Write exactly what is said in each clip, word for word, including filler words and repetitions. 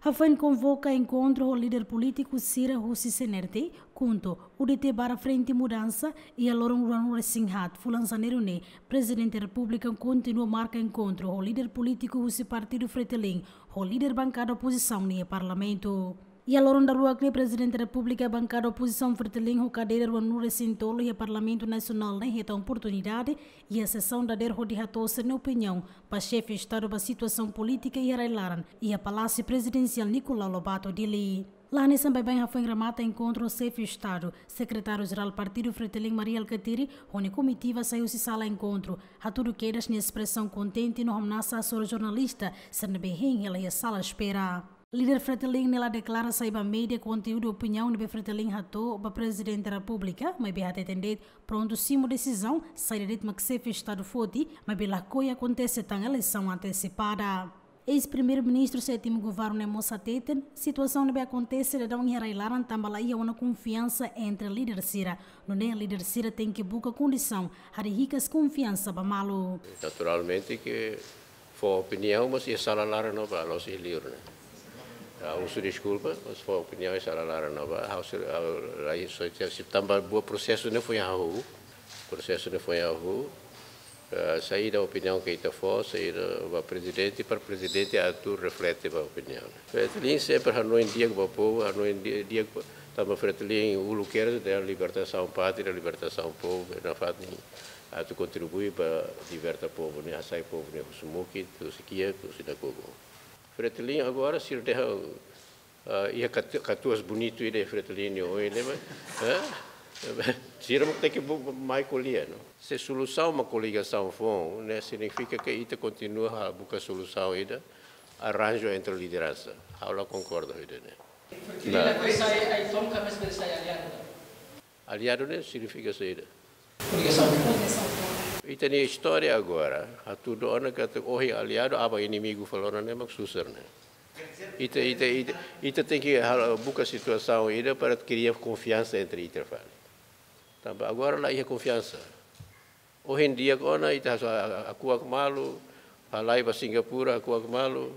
Hafoin konvoka enkontru ho líder polítiku sira husi C N R T, KHUNTO, U D T barra Frente Mudansa, iha loron ruanulu-resin-haat fulan Janeiru ne'e, Prezidente Repúblika kontinua marka enkontru ho líder polítiku husi Partidu Fretilin, ho líder bankada opozisaun iha Parlamentu. Iha loron daruak ne'e, Prezidente Repúblika, bankada opozisaun Fretilin ho kadeira ruanulu-resin-tolu iha Parlamentu Nasionál ne'e hetan oportunidade iha sesaun dadeer hodi hato'o sira-nia opiniaun ba Xefe Estadu ba situasaun polítika iha rai-laran iha Palásiu Prezidensiál Nicolau Lobato, Dili. La hanesan baibain, hafoin remata enkontru, Xefe Estadu, Sekretáriu-Jerál Partidu Fretilin Mari Alkatiri ho nia komitiva sai husi sala enkontru, hatudu kedas nia espresaun kontente no hamnasa hasoru jornalista sira ne'ebé hein hela iha sala espera. Líder Fretilin ne'e la deklara sai ba média konteúdu opiniaun ne'ebé Fretilin hato'o ba Prezidente Repúblika, maibé hateten de'it prontu simu desizaun saida de'it mak Xefe Estadu foti, maibé lakohi akontese tan eleisaun antesipada. Eis-Primeiru-Ministru Sétimu Governu ne'e mós hateten, situasaun ne'ebé akontese daudaun iha rai-laran tanba la iha ona konfiansa entre líder sira. Nune'e líder sira tenke buka kondisaun hodi hikas konfiansa ba malu. Naturalmente ke fó opiniaun, mas iha sala laran ne'ebá, la'ós iha liur ne'e. Ah, husu deskulpa, mas fó opiniaun iha sala laran ne'ebá, ha'u sei, ha'u, la iha, só se tanba buat prosesu ne'e foin hahú, prosesu ne'e foin hahú, eh, saida opiniaun ke ita fó, saida ba Prezidente, para Prezidente atu reflete ba opiniaun. Fretilin sempre hanoin di'ak ba povu, hanoin di-, di'ak ba, tanba Fretilin uluk kedas dehan libertasaun pátria, libertasaun povu, nafatin atu kontribui ba liberta povu ne'e, hasai povu ne'e husi mukit, husi kiak, husi nakukun. Fretilin agora sira dehan, ah, iha katu-, katuas bonitu ida iha Fretilin nia oin ne'e, mas, eh? Sira mak tenke bu-, mai ko'alia, no? Se solusaun mak koligasaun foun, ne'e signifika ke ita kontinua halo buka solusaun ida, arranju entre lideransa. Ha'u la konkorda ho ida-ne'e. Fretilin la bele sai, ai, tom ka mes bele sai aliadu. Aliadu ne'e signifika saida? Koligasaun. Ita-nia istória agora, hatudu ona katak ohin aliadu, aban inimigu fali ona ne'e mak susar ne'e. Ita, ita, ita, ita tenke hal-, buka situasaun ida para kria konfiansa entre ita fali. Tanba agora la iha konfiansa. Ohin di'ak ona ita hasoru, hakuak malu, halai ba Singapura hakuak malu,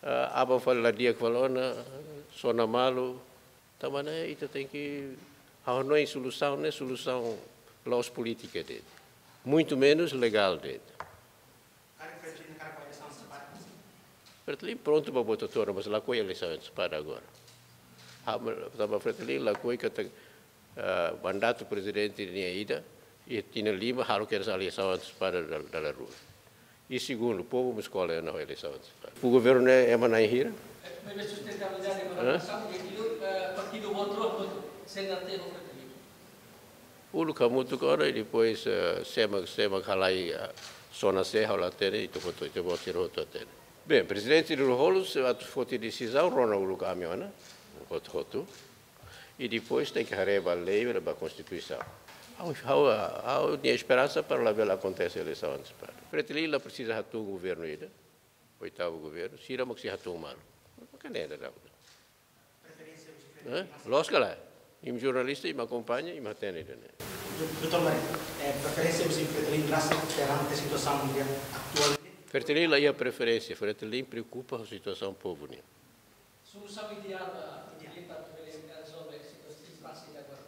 ah, aban fali la di'ak fali ona, sona malu. Tanba ne'e ita tenke hanoin solusaun ne'e, solusaun la'ós polítika de'it. Muito menos legál de'it. Fretilin prontu ba vota to'o, mas lakohi eleisaun antesipada agora. Ah, ma-, tanba Fretilin lakohi katak, ah, mandatu Prezidente nian ida, iha tinan lima halo kedas eleisaun antesipada dal-, dala rua. I segundu, povu mós ko'alia ona ho eleisaun antesipada. Ba governu ne'e ema na'in hira? Maibé sustentabilidade, hã? Governasaun, e aquilo, eh, partidu outro, outro, C N R T ho Fretilin. Uluk hamutuk ona i depois, eh, sé mak, sé mak halai, eh, sona sé ha'u la hatene, ita hotu, ita-boot sira hotu hatene. Bem, Prezidente Lú-Olo, se atu foti desizaun, rona uluk ami ona, hotu-hotu. I depois tenke haree ba lei, ba Konstituisaun. Ha'u, ha'u, ha'u-nia esperansa para labele akontese eleisaun antesipada. Fretilin la presiza hatun governu ida, oitavu governu, sira mak sei hatun malu. Maka ne'e daudaun. Hã? Loos ka lae? Imi jornalista, imi akompaña, imi hatene ida-ne'e. Doutór Mari, eh, preferénsia husi Fretilin rasik perante situasaun mundiál atuál? Fretilin la iha preferénsia, Fretilin preokupa ho situasaun povu nian. Solusaun ideál ba Fretilin para bele rezolve situasaun impasse agora?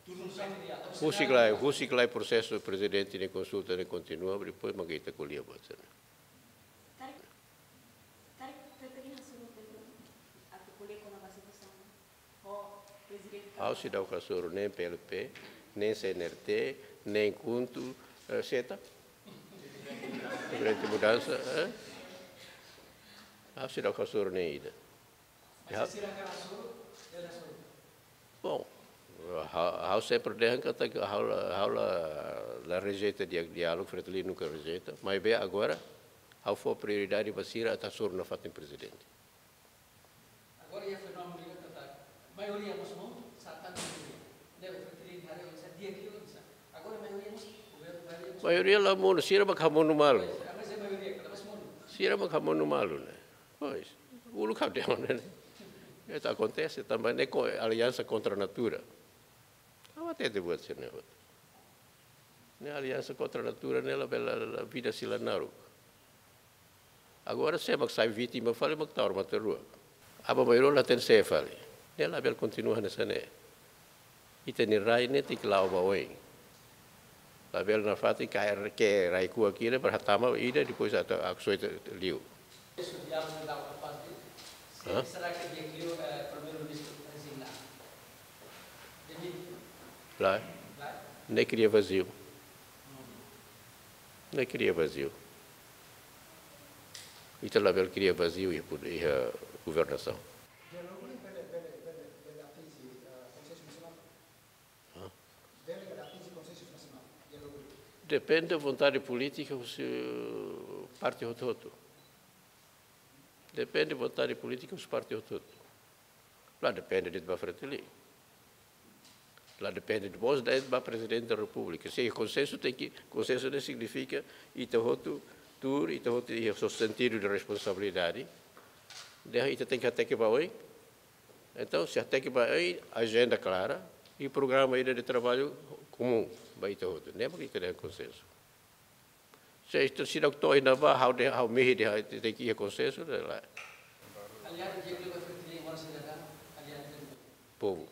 Solusaun ideál. Husik lai, husik lai prosesu Prezidente nia konsulta ne'e kontinua, depois mak ita ko'alia buat sira-ne'e. Karik, karik Fretilin hasoru Fretilin atu ko'alia kona-ba situasaun ho Prezidente. Ha'u seidauk hasoru nen P L P, nen C N R T, nen KHUNTO, eh, seta? Frente Mudansa, eh? Ha'u seidauk hasoru nen ida. Ya. Mas se sira hakarak hasoru, bele hasoru. Bom, ha'u, ha'u sempre dehan katak ha'u la, ha'u la, la rejeita dia-, diálogu, Fretilin nunka rejeita. Maibé agora, ha'u fó prioridade ba sira atu hasoru nafatin Prezidente. Agora iha fenómenu ida katak maioria mós monu, sa tan maioria. Ne'ebé Fretilin haree oinsá, di'ak ka oinsá? Agora maioria mós, maioria mós. Maioria la monu, sira mak hamonu malu. Pois, ah, mas é maioria, kada vez monu. Sira mak hamonu malu ne'e. Pois, uluk ha'u dehan ne'e. Ita akontese tanba ne'e ko-, aliansa kontra natura. Ha'u hatete buat sira-ne'e hotu. Ne'e aliansa kontra natura ne'e labele, la, la, vida sei la naruk. Agora, sé mak sai vítima fali mak tau matan rua. Aban-bainrua la hatene sé fali. Ne'e labele kontinua hanesan ne'e. Ita-nia rai ne'e tenke la'o ba oin. Labele nafatin kaer ke rai kuak ida para hatama ida, depois atu aksoita liu. Hã? Será que dia que o, eh, primeiro-ministro resignar? Demite? Lae. Lae? Ne'e kria vaziu. Ne'e kria vaziu. Ita labele kria vaziu iha pud-, iha governasaun. Diálogu ne'e bele, bele, bele, bele atinje, eh, konsensu nasionál? Hã? Bele atinje konsensu nasionál? Diálogu ne'e. Depende vontade polítika husi parte hotu-hotu. Depende vontade polítika husi parte hotu-hotu. La depende de'it ba Fretilin. La depende de'it mós de'it ba Prezidente da Repúblika. Se konsensu tenke, konsensu ne'e signifika ita hotu tuur, ita hotu iha sentidu de responsabilidade. Dehan ita tenke hateke ba oin. Entaun, se hateke ba oin, ajenda klara i programa ida de traballu komún ba ita hotu. Ne'e mak ita dehan konsensu. Se ita seidauk to'o iha ne'ebá, ha'u dehan, ha'u mehi dehan ita tenke iha konsensu, ne'e lae. Aliansa Diálogu Fretilin, mana saida, aliansa Povu.